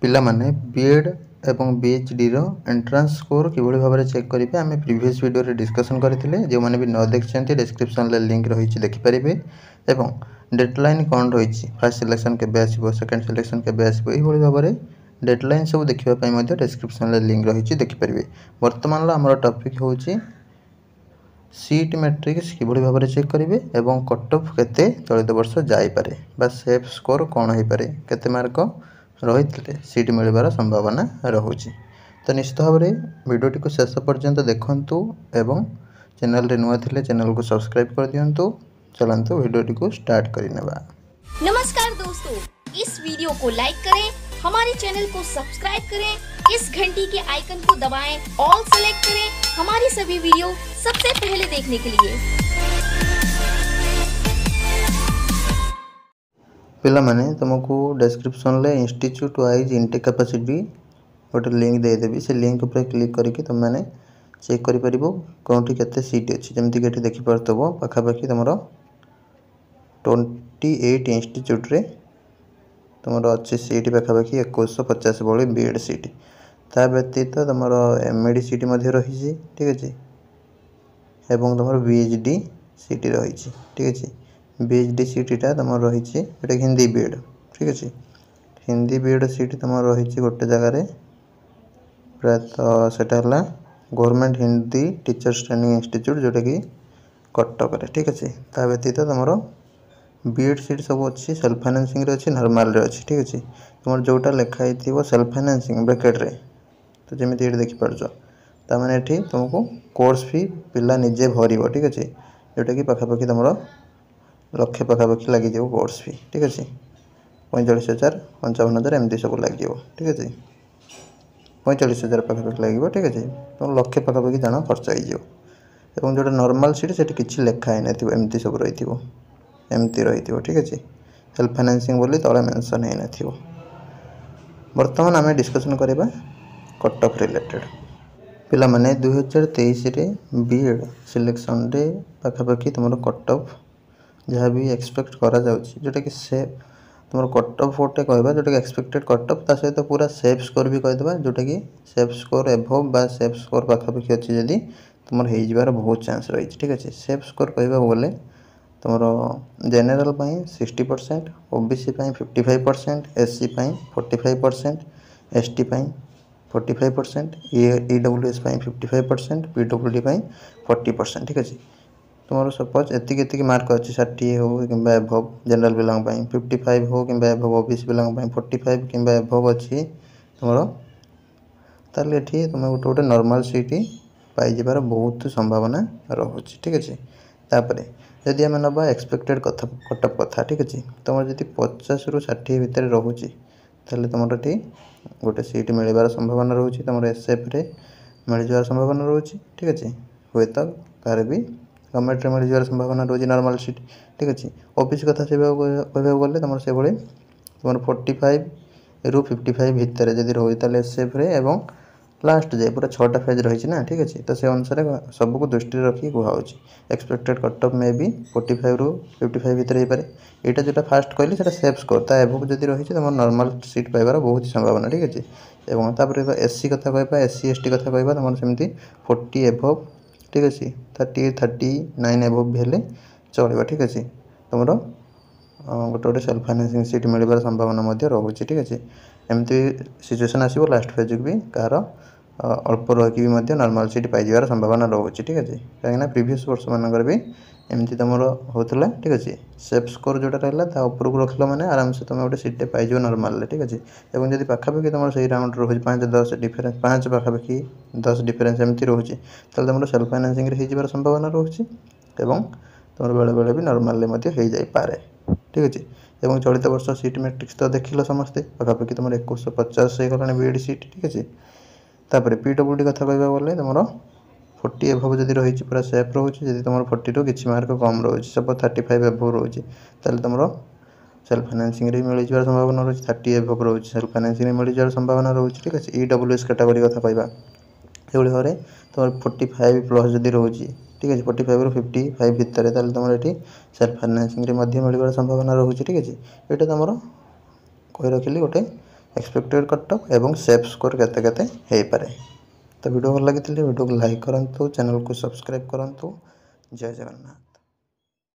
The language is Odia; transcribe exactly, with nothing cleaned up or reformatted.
ପିଲାମାନେ ବି ଏଡ଼୍ ଏବଂ ବି ଏଚ୍ ଡ଼ିର ଏଣ୍ଟ୍ରାନ୍ସ ସ୍କୋର୍ କିଭଳି ଭାବରେ ଚେକ୍ କରିବେ ଆମେ ପ୍ରିଭିୟସ୍ ଭିଡ଼ିଓରେ ଡିସ୍କସନ୍ କରିଥିଲେ ଯେଉଁମାନେ ବି ନ ଦେଖିଛନ୍ତି ଡେସ୍କ୍ରିପସନ୍ରେ ଲିଙ୍କ୍ ରହିଛି ଦେଖିପାରିବେ ଏବଂ ଡେଡ଼ଲାଇନ୍ କ'ଣ ରହିଛି ଫାର୍ଷ୍ଟ ସିଲେକ୍ସନ୍ କେବେ ଆସିବ ସେକେଣ୍ଡ ସିଲେକ୍ସନ୍ କେବେ ଆସିବ ଏଇଭଳି ଭାବରେ ଡେଡ଼ଲାଇନ୍ ସବୁ ଦେଖିବା ପାଇଁ ମଧ୍ୟ ଡେସ୍କ୍ରିପସନ୍ରେ ଲିଙ୍କ୍ ରହିଛି ଦେଖିପାରିବେ ବର୍ତ୍ତମାନର ଆମର ଟପିକ୍ ହେଉଛି ସିଟ୍ ମ୍ୟାଟ୍ରିକ୍ସ କିଭଳି ଭାବରେ ଚେକ୍ କରିବେ ଏବଂ କଟ୍ ଅଫ୍ କେତେ ଚଳିତ ବର୍ଷ ଯାଇପାରେ ବା ସେଫ୍ ସ୍କୋର୍ କ'ଣ ହେଇପାରେ କେତେ ମାର୍କ ରହିଥିଲେ ସିଟ୍ ମିଳିବାର ସମ୍ଭାବନା ରହୁଛି ତ ନିଶ୍ଚିତ ଭାବରେ ଭିଡ଼ିଓଟିକୁ ଶେଷ ପର୍ଯ୍ୟନ୍ତ ଦେଖନ୍ତୁ ଏବଂ ଚ୍ୟାନେଲରେ ନୂଆ ଥିଲେ ଚ୍ୟାନେଲକୁ ସବସ୍କ୍ରାଇବ୍ କରିଦିଅନ୍ତୁ ଚାଲନ୍ତୁ ଭିଡ଼ିଓଟିକୁ ଷ୍ଟାର୍ଟ କରିନେବା नमस्कार दोस्तों इस वीडियो को लाइक करें हमारे चैनल को सब्सक्राइब करें इस घंटी के आइकन को दबाएं ऑल सेलेक्ट करें हमारी सभी वीडियो सबसे पहले देखने के लिए ପିଲାମାନେ ତୁମକୁ ଡେସ୍କ୍ରିପସନ୍ରେ ଇନଷ୍ଟିଚ୍ୟୁଟ୍ ୱାଇଜ୍ ଇନଟେକ୍ କାପାସିଟି ଗୋଟେ ଲିଙ୍କ୍ ଦେଇଦେବି ସେ ଲିଙ୍କ୍ ଉପରେ କ୍ଲିକ୍ କରିକି ତୁମେମାନେ ଚେକ୍ କରିପାରିବ କେଉଁଠି କେତେ ସିଟ୍ ଅଛି ଯେମିତିକି ଏଠି ଦେଖିପାରୁଥିବ ପାଖାପାଖି ତୁମର ଟ୍ୱେଣ୍ଟି ଏଇଟ୍ ଇନଷ୍ଟିଚ୍ୟୁଟ୍ରେ ତୁମର ଅଛି ସିଟ୍ ପାଖାପାଖି ଏକୋଇଶହ ପଚାଶ ଭଳି ବି ଏଡ଼୍ ସିଟ୍ ତା ବ୍ୟତୀତ ତୁମର ଏମ୍ ଇ ଡ଼ି ସିଟ୍ ମଧ୍ୟ ରହିଛି ଠିକ୍ ଅଛି ଏବଂ ତୁମର ବି ଏଚ୍ ଡ଼ି ସିଟ୍ ରହିଛି ଠିକ୍ ଅଛି ବି ଏଚ୍ ଡ଼ି ସିଟ୍ଟା ତୁମର ରହିଛି ଯେଉଁଟାକି ହିନ୍ଦୀ ବି ଏଡ଼୍ ଠିକ୍ ଅଛି ହିନ୍ଦୀ ବି ଏଡ଼୍ ସିଟ୍ ତୁମର ରହିଛି ଗୋଟେ ଜାଗାରେ ପ୍ରାୟତଃ ସେଇଟା ହେଲା government Hindi teachers training institute ଯେଉଁଟାକି କଟକରେ ଠିକ୍ ଅଛି ତା ବ୍ୟତୀତ ତୁମର ବି ଏଡ଼୍ ସିଟ୍ ସବୁ ଅଛି ସେଲ୍ଫ ଫାଇନାନ୍ସିଂରେ ଅଛି ନର୍ମାଲରେ ଅଛି ଠିକ୍ ଅଛି ତୁମର ଯେଉଁଟା ଲେଖା ହେଇଥିବ ସେଲ୍ଫ ଫାଇନାନ୍ସିଂ ବ୍ରାକେଟ୍ରେ ତ ଯେମିତି ଏଠି ଦେଖିପାରୁଛ ତାମାନେ ଏଠି ତୁମକୁ କୋର୍ସ ଫି ପିଲା ନିଜେ ଭରିବ ଠିକ୍ ଅଛି ଯେଉଁଟାକି ପାଖାପାଖି ତୁମର ଲକ୍ଷେ ପାଖାପାଖି ଲାଗିଯିବ କୋର୍ସ ଫି ଠିକ୍ ଅଛି ପଇଁଚାଳିଶ ହଜାର ପଞ୍ଚାବନ ହଜାର ଏମିତି ସବୁ ଲାଗିବ ଠିକ୍ ଅଛି ପଇଁଚାଳିଶ ହଜାର ପାଖାପାଖି ଲାଗିବ ଠିକ୍ ଅଛି ତୁମର ଲକ୍ଷେ ପାଖାପାଖି ଜଣ ଖର୍ଚ୍ଚ ହେଇଯିବ ଏବଂ ଯେଉଁଟା ନର୍ମାଲ୍ ସିଟ୍ ସେଠି କିଛି ଲେଖା ହେଇନଥିବ ଏମିତି ସବୁ ରହିଥିବ ଏମିତି ରହିଥିବ ଠିକ୍ ଅଛି ସେଲ୍ଫ ଫାଇନାନ୍ସିଂ ବୋଲି ତଳେ ମେନସନ୍ ହେଇନଥିବ ବର୍ତ୍ତମାନ ଆମେ ଡିସ୍କସନ୍ କରିବା କଟ୍ ଅଫ୍ ରିଲେଟେଡ଼୍ ପିଲାମାନେ ଦୁଇହଜାର ତେଇଶରେ ବି ଏଡ଼୍ ସିଲେକ୍ସନ୍ରେ ପାଖାପାଖି ତୁମର କଟ୍ ଅଫ୍ ଯାହା ବି ଏକ୍ସପେକ୍ଟ କରାଯାଉଛି ଯେଉଁଟାକି ସେ ତୁମର କଟ୍ ଅଫ୍ ଗୋଟେ କହିବା ଯେଉଁଟାକି ଏକ୍ସପେକ୍ଟେଡ଼ କଟ୍ ଅଫ୍ ତା ସହିତ ପୁରା ସେଫ୍ ସ୍କୋର୍ ବି କହିଦେବା ଯେଉଁଟାକି ସେଫ୍ ସ୍କୋର୍ ଏଭୋଭ୍ ବା ସେଫ୍ ସ୍କୋର୍ ପାଖାପାଖି ଅଛି ଯଦି ତୁମର ହେଇଯିବାର ବହୁତ ଚାନ୍ସ ରହିଛି ଠିକ୍ ଅଛି ସେଫ୍ ସ୍କୋର୍ କହିବାକୁ ଗଲେ ତୁମର ଜେନେରାଲ୍ ପାଇଁ ସିକ୍ସଟି ପରସେଣ୍ଟ ଓ ବି ସି ପାଇଁ fifty five percent S C ପାଇଁ forty five percent S T ପାଇଁ forty five percent E W S ପାଇଁ fifty five percent P W D ପାଇଁ ଫର୍ଟି ପରସେଣ୍ଟ ଠିକ୍ ଅଛି ତୁମର ସପୋଜ୍ ଏତିକି ଏତିକି ମାର୍କ ଅଛି ଷାଠିଏ ହେଉ କିମ୍ବା ଏଭୋଭ୍ ଜେନେରାଲ୍ ପିଲାଙ୍କ ପାଇଁ ଫିଫ୍ଟି ଫାଇଭ୍ ହେଉ କିମ୍ବା ଏଭୋଭ୍ ଓ ବି ସି ପିଲାଙ୍କ ପାଇଁ ଫର୍ଟି ଫାଇଭ୍ କିମ୍ବା ଏଭୋଭ୍ ଅଛି ତୁମର ତାହେଲେ ଏଠି ତୁମେ ଗୋଟେ ଗୋଟେ ନର୍ମାଲ୍ ସିଟ୍ ପାଇଯିବାର ବହୁତ ସମ୍ଭାବନା ରହୁଛି ଠିକ୍ ଅଛି ତାପରେ ଯଦି ଆମେ ନେବା ଏକ୍ସପେକ୍ଟେଡ଼ କଥା କଟ୍ ଅଫ୍ କଥା ଠିକ୍ ଅଛି ତୁମର ଯଦି ପଚାଶରୁ ଷାଠିଏ ଭିତରେ ରହୁଛି ତାହେଲେ ତୁମର ଏଠି ଗୋଟେ ସିଟ୍ ମିଳିବାର ସମ୍ଭାବନା ରହୁଛି ତୁମର ଏସ୍ଏଫ୍ରେ ମିଳିଯିବାର ସମ୍ଭାବନା ରହୁଛି ଠିକ୍ ଅଛି ହୁଏତ କାହାର ବି ଗଭର୍ଣ୍ଣମେଣ୍ଟରେ ମିଳିଯିବାର ସମ୍ଭାବନା ରହୁଛି ନର୍ମାଲ୍ ସିଟ୍ ଠିକ୍ ଅଛି ଓ ବି ସି କଥା ସେବାକୁ କହିବାକୁ ଗଲେ ତୁମର ସେଭଳି ତୁମର ଫୋର୍ଟି ଫାଇଭରୁ ଫିଫ୍ଟି ଫାଇଭ୍ ଭିତରେ ଯଦି ରହୁଛି ତାହେଲେ ଏସ୍ଏଫ୍ରେ ଏବଂ ଲାଷ୍ଟ ଯାଏ ପୁରା ଛଅଟା ଫେଜ୍ ରହିଛି ନା ଠିକ୍ ଅଛି ତ ସେ ଅନୁସାରେ ସବୁକୁ ଦୃଷ୍ଟିରେ ରଖିକି କୁହାହେଉଛି ଏକ୍ସପେକ୍ଟେଡ଼ କଟ୍ ଅଫ୍ ମେ ବି ଫୋର୍ଟି ଫାଇଭରୁ ଫିଫ୍ଟି ଫାଇଭ୍ ଭିତରେ ହେଇପାରେ ଏଇଟା ଯେଉଁଟା ଫାଷ୍ଟ କହିଲି ସେଇଟା ସେଫ୍ ସ୍କୋର୍ ତା ଏଭୋଭ୍ ଯଦି ରହିଛି ତୁମର ନର୍ମାଲ୍ ସିଟ୍ ପାଇବାର ବହୁତ ସମ୍ଭାବନା ଠିକ୍ ଅଛି ଏବଂ ତାପରେ ଏସ୍ ସି କଥା କହିବା ଏସ୍ ସି ଏସ୍ ଟି କଥା କହିବା ତୁମର ସେମିତି ଫୋର୍ଟି ଏଭୋଭ୍ ଠିକ୍ ଅଛି ଥାର୍ଟି ଥାର୍ଟି ନାଇନ୍ ଏଭୋଭ୍ ବି ହେଲେ ଚଳିବ ଠିକ୍ ଅଛି ତୁମର ଗୋଟେ ଗୋଟେ ସେଲ୍ଫ ଫାଇନାନ୍ସିଂ ସିଟ୍ ମିଳିବାର ସମ୍ଭାବନା ମଧ୍ୟ ରହୁଛି ଠିକ୍ ଅଛି ଏମିତି ସିଚୁଏସନ୍ ଆସିବ ଲାଷ୍ଟ ଫେଜ୍କୁ ବି କାହାର ଅଳ୍ପ ରହିକି ବି ମଧ୍ୟ ନର୍ମାଲ୍ ସିଟ୍ ପାଇଯିବାର ସମ୍ଭାବନା ରହୁଛି ଠିକ୍ ଅଛି କାହିଁକିନା ପ୍ରିଭିୟସ୍ ବର୍ଷମାନଙ୍କରେ ବି ଏମିତି ତୁମର ହେଉଥିଲା ଠିକ୍ ଅଛି ସେଫ୍ ସ୍କୋର୍ ଯେଉଁଟା ରହିଲା ତା ଉପରକୁ ରଖିଲ ମାନେ ଆରାମସେ ତୁମେ ଗୋଟେ ସିଟ୍ଟେ ପାଇଯିବ ନର୍ମାଲରେ ଠିକ୍ ଅଛି ଏବଂ ଯଦି ପାଖାପାଖି ତୁମର ସେଇ ରାଉଣ୍ଡ ରହୁଛି ପାଞ୍ଚ ଦଶ ଡିଫରେନ୍ସ ପାଞ୍ଚ ପାଖାପାଖି ଦଶ ଡିଫରେନ୍ସ ଏମିତି ରହୁଛି ତାହେଲେ ତୁମର ସେଲ୍ଫ ଫାଇନାନ୍ସିଂରେ ହେଇଯିବାର ସମ୍ଭାବନା ରହୁଛି ଏବଂ ତୁମର ବେଳେବେଳେ ବି ନର୍ମାଲରେ ମଧ୍ୟ ହେଇଯାଇପାରେ ଠିକ୍ ଅଛି ଏବଂ ଚଳିତ ବର୍ଷ ସିଟ୍ ମ୍ୟାଟ୍ରିକ୍ସ ତ ଦେଖିଲ ସମସ୍ତେ ପାଖାପାଖି ତୁମର ଏକୋଇଶହ ପଚାଶ ହେଇଗଲାଣି ବି ଏଡ଼୍ ସିଟ୍ ଠିକ୍ ଅଛି ତାପରେ ପି ଡବ୍ଲ୍ୟୁ ଡ଼ି କଥା କହିବାକୁ ଗଲେ ତୁମର ଫୋର୍ଟି ଏଭୋଭ୍ ଯଦି ରହିଛି ପୁରା ସେଫ୍ ରହୁଛି ଯଦି ତୁମର ଫୋର୍ଟିରୁ କିଛି ମାର୍କ କମ୍ ରହୁଛି ସପୋଜ୍ ଥାର୍ଟି ଫାଇଭ୍ ଏଭୋଭ୍ ରହୁଛି ତାହେଲେ ତୁମର ସେଲ୍ଫ ଫାଇନାନ୍ସିଂରେ ବି ମିଳିଯିବାର ସମ୍ଭାବନା ରହୁଛି ଥାର୍ଟି ଏଭୋଭ୍ ରହୁଛି ସେଲ୍ଫ ଫାଇନାନ୍ସିଂରେ ମିଳିଯିବାର ସମ୍ଭାବନା ରହୁଛି ଠିକ୍ ଅଛି ଇ ଡବ୍ଲ୍ୟୁ ଏସ୍ କାଟାଗୋରୀ କଥା କହିବା ସେଭଳି ଭାବରେ ତୁମର ଫୋର୍ଟି ଫାଇଭ୍ ପ୍ଲସ୍ ଯଦି ରହୁଛି ଠିକ୍ ଅଛି ଫୋର୍ଟି ଫାଇଭରୁ ଫିଫ୍ଟି ଫାଇଭ୍ ଭିତରେ ତାହେଲେ ତୁମର ଏଠି ସେଲ୍ଫ ଫାଇନାନ୍ସିଂରେ ମଧ୍ୟ ମିଳିବାର ସମ୍ଭାବନା ରହୁଛି ଠିକ୍ ଅଛି ଏଇଟା ତୁମର କହି ରଖିଲି ଗୋଟେ ଏକ୍ସପେକ୍ଟେଡ଼ କଟ୍ ଅଫ୍ ଏବଂ ସେଫ୍ ସ୍କୋର୍ କେତେ କେତେ ହେଇପାରେ ତ ଭିଡ଼ିଓ ଭଲ ଲାଗିଥିଲେ ଭିଡ଼ିଓକୁ ଲାଇକ୍ କରନ୍ତୁ ଚ୍ୟାନେଲକୁ ସବସ୍କ୍ରାଇବ୍ କରନ୍ତୁ ଜୟ ଜଗନ୍ନାଥ।